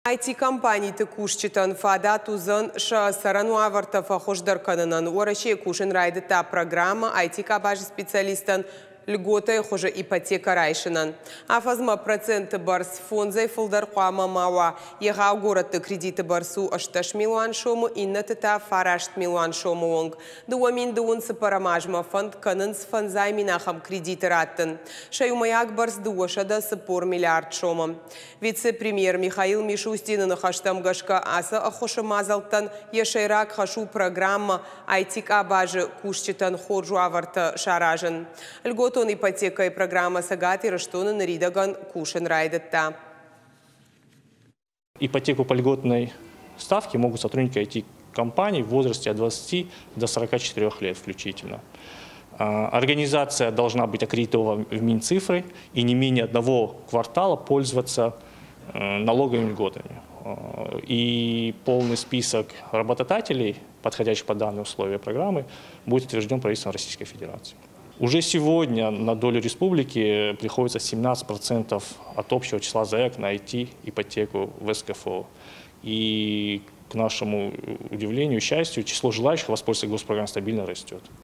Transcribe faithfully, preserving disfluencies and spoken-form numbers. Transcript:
I T-компаниты кусджытӕн фадат уыдзӕн сӕ цӕрӕн уавӕртӕ фӕхуыздӕр кӕнынӕн. Уӕрӕсейы кусын райдыдта программӕ I T-къабазы специалисттӕн льготӕйы хуызы ипотекӕ райсынӕн. Афӕдзмӕ проценты бӕрц фондзӕй фылдӕр хъуамӕ ма уа. Егъау горӕтты кредиты бӕрц у ӕстдӕс милуан сомы, иннӕты та фараст милуан сомы онг. Дыууӕ мин дыууын цыппӕрӕм азмӕ фӕнд кӕнынц фӕндзай мин ахӕм кредиты раттын. Сӕ иумӕйаг бӕрц дыууӕсӕдӕ цыппор миллиард сомы. Вице-премьер Михаил Мишустины ныхӕстӕм гӕсгӕ, ацы ӕххуысы мадзӕлттӕн йӕ сӕйраг хӕс у программӕ I T-къабазы кусджытӕн хорз уавӕртӕ саразын. Льготон ипотекӕйы программӕ Цӕгат Ирыстоны ныридӕгӕн кусын райдыдта. Ипотеку по льготной ставке могут сотрудники I T-компаний в возрасте от двадцати до сорока четырех лет включительно. А, Организация должна быть аккредитована в Минцифры и не менее одного квартала пользоваться э, налоговыми льготами. А, И полный список работодателей, подходящих под данные условия программы, будет утвержден правительством Российской Федерации. Уже сегодня на долю республики приходится семнадцать процентов от общего числа заявок на I T-ипотеку в С К Ф О. И, к нашему удивлению, счастью, число желающих воспользоваться госпрограммой стабильно растет.